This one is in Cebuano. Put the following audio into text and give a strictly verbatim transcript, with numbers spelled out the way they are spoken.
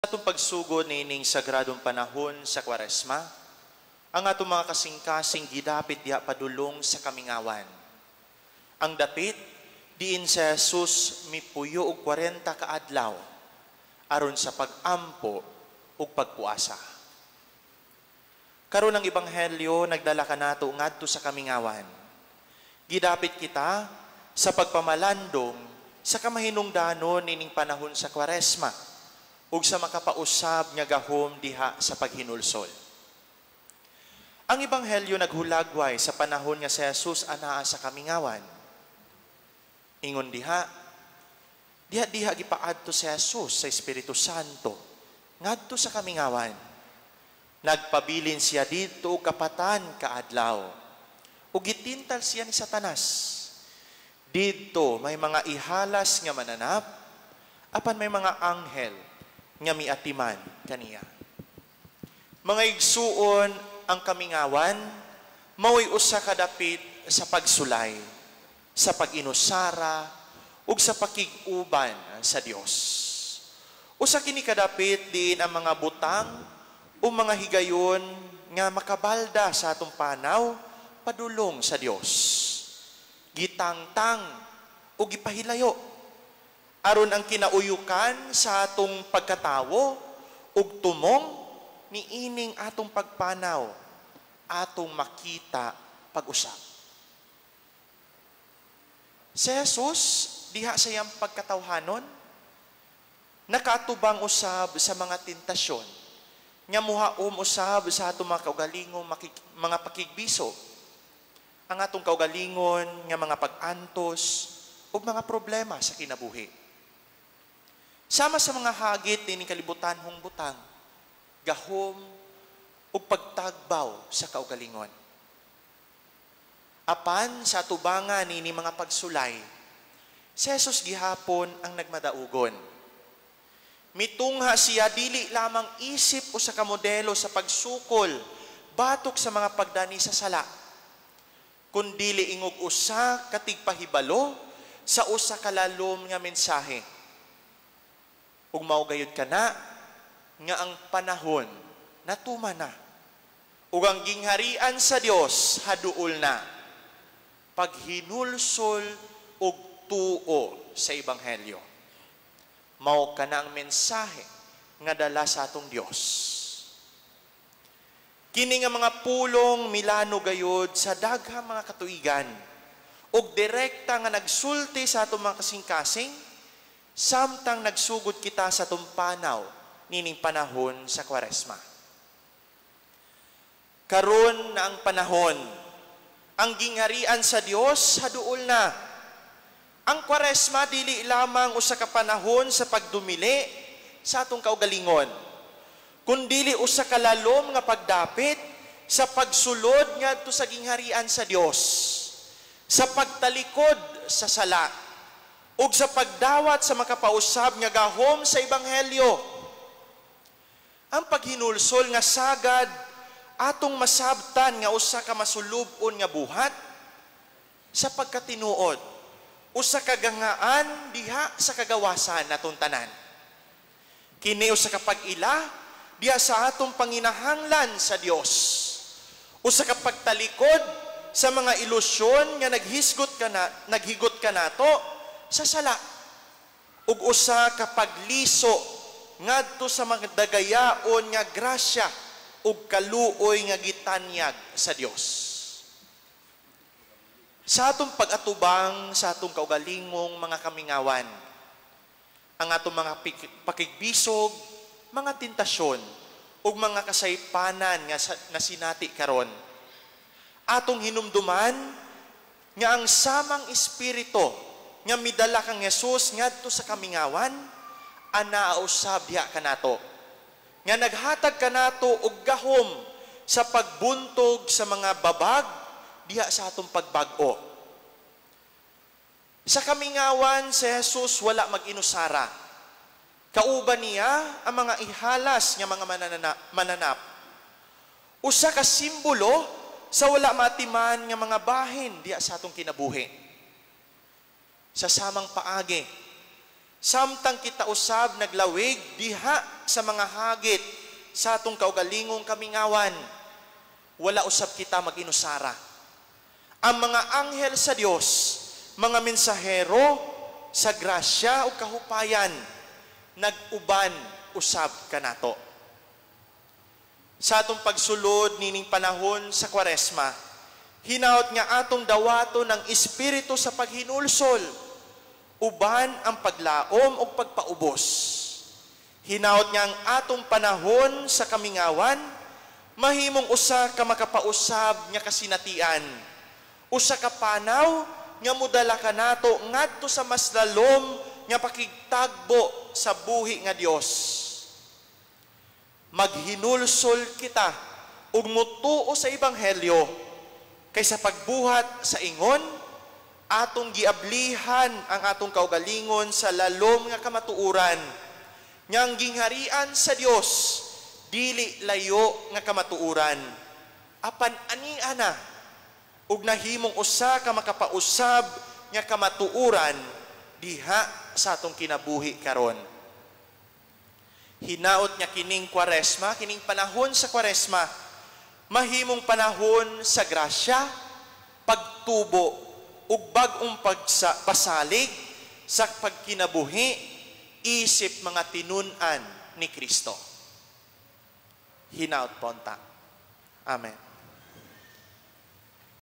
Atong pagsugod niining sagradong panahon sa Kwaresma, ang atong mga kasing-kasing gidapit diha padulong sa kamingawan. Ang dapit diin si Jesus mipuyo og kwarenta ka adlaw aron sa pag-ampo ug pagpuasa. Karon, ang Ebanghelyo nagdala kanato ngadto sa kamingawan. Gidapit kita sa pagpamalandong sa kamahinungdanon nining panahon sa Kwaresma ug sa makapausab nga gahom diha sa paghinulsol. Ang Ebanghelyo naghulagway sa panahon nga si Jesus anaa sa kamingawan. Ingon diha, diha diha gipaadto si Jesus sa Espiritu Santo ngadto sa kamingawan. Nagpabilin siya didto og kapatan ka adlaw. Ug gitintal siya ni Satanas. Didto may mga ihalas nga mananap, apan may mga anghel nga miatiman kaniya. Mga igsuon, ang kamingawan mao'y usa ka dapit sa pagsulay, sa pag-inusara ug sa pakig-uban sa Dios. Usa kini kadapit diin ang mga butang o mga higayon nga makabalda sa atong panaw padulong sa Dios. Gitangtang o gipahilayo aron ang kinauyukan sa atong pagkatawo ug tumong niining atong pagpanaw atong makita pag-usab. Si Jesus diha sa iyang pagkatawhanon, nakaatubang usab sa mga tentasyon nga muhaom usab sa atong mga kaugalingong makik- mga pakigbiso, ang atong kaugalingon nga mga pag-antos ug mga problema sa kinabuhi. Sama sa mga hagit nining kalibutanhong butang, gahom ug pagtagbaw sa kaugalingon. Apan sa atubangan niini mga pagsulay, si Jesus gihapon ang nagmadaugon. Mitungha siya dili lamang isip usa ka modelo sa pagsukol batok sa mga pagdani sa sala, kundili ingog usa ka tigpahibalo sa usa ka lalom nga mensahe. Ug mao gayud kana nga ang panahon natuman na. Ug ang gingharian sa Dios haduol na. Paghinulsol ug tuo sa ebanghelyo. Mao kana ang mensahe nga dala sa atong Dios. Kini nga mga pulong milano gayud sa daghang mga katuigan ug direkta nga nagsulti sa atong mga kasing-kasing samtang nagsugod kita sa atong panaw nining panahon sa Kwaresma. Karon na ang panahon, ang gingharian sa Dios haduol na. Ang Kwaresma dili lamang usa ka panahon sa pagdumili sa atong kaugalingon, kundili usa ka lalom nga pagdapit sa pagsulod ngadto sa gingharian sa Dios, sa pagtalikod sa sala, ug sa pagdawat sa makapausab nga gahom sa ebanghelyo. Ang paghinulsol nga sagad atong masabtan nga usa ka masulub-on nga buhat sa pagkatinuod, usa ka gangaan diha sa kagawasan natong tanan. Kini usa ka pag-ila diha sa atong panginahanglan sa Dios. Usa ka pagtalikod sa mga ilusyon nga naghisgot kana naghigot kanato sa sala. Ug usa ka pagliso ngadto sa mga dagayaon nga grasya ug kaluoy nga gitanyag sa Dios. Sa atong pag-atubang sa atong kaugalingong mga kamingawan, ang atong mga pakigbisog, mga tentasyon, ug mga kasaypanan nga nasinati karon, atong hinumduman nga ang samang espiritu nga midala kang Jesus ngadto sa kamingawan, anaa usab diha kanato nga naghatag kanato og gahom sa pagbuntog sa mga babag diha sa atong pagbag-o. Sa kamingawan si Jesus wala mag-inusara. Kauban niya ang mga ihalas nga mga mananana, mananap. Usa ka simbolo sa wala matiman nga mga bahin diha sa atong kinabuhi. Sa samang paagi, Samtang kita usab naglawig diha sa mga hagit sa atong kaugalingong kamingawan, wala usab kita mag-inusara. Ang mga anghel sa Dios, mga mensahero sa grasya ug kahupayan, nag-uban usab kanato. Sa atong pagsulod nining panahon sa Kwaresma, hinaot nga atong dawaton ang Espiritu sa paghinulsol, uban ang paglaom ug pagpaubos. Hinaot nga ang atong panahon sa kamingawan, mahimong usa ka makapausab nga kasinatian. Usa ka panaw nga modala kanato ngadto sa mas lalom nga pakigtagbo sa buhi nga Dios. Maghinulsol kita ug mutuo sa ebanghelyo kay sa pagbuhat sa ingon, atong giablihan ang atong kaugalingon sa lalom nga kamatuoran nga ang gingharian sa Dios dili layo nga kamatuoran, apan ania na ug nahimong usa ka makapausab nga kamatuoran diha sa atong kinabuhi karon. Hinaot nga kining Kwaresma, kining panahon sa Kwaresma, mahimong panahon sa grasya, pagtubo ug bag-ong pagsa, pasalig sa pagkinabuhi isip mga tinun-an ni Kristo. Hinaot po unta. Amen.